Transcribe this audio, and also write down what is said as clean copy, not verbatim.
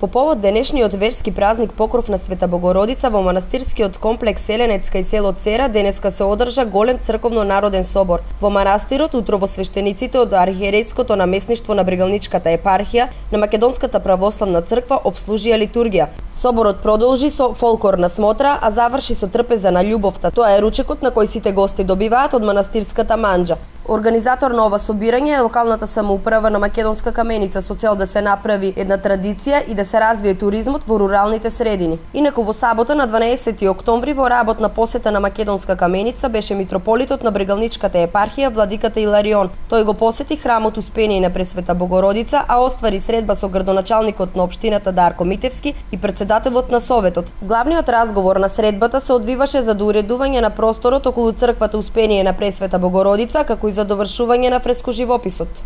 По повод денешниот верски празник Покров на Света Богородица во манастирскиот комплекс Еленец кај село Цера денеска се одржа голем црковно народен собор. Во манастирот утрово свештениците од архиерејското намесништво на Брегалничката епархија на Македонската православна црква обслужија литургија. Соборот продолжи со фолклорна смотра, а заврши со трпеза на љубовта. Тоа е ручекот на кој сите гости добиваат од манастирската манџа. Организатор на ова собирање е локалната самоуправа на Македонска Каменица со цел да се направи една традиција и да се развие туризмот во руралните средини. Инаку во сабота на 12 октомври во работна посета на Македонска Каменица беше митрополитот на Брегалничката епархија владиката Иларион. Тој го посети храмот Успение на Пресвета Богородица, а оствари средба со градоначалникот на општината Дарко Митевски и председателот на советот. Главниот разговор на средбата се одвиваше за доуредување на просторот околу црквата Успение на Пресвета Богородица, како и за довршување на фрескоживописот.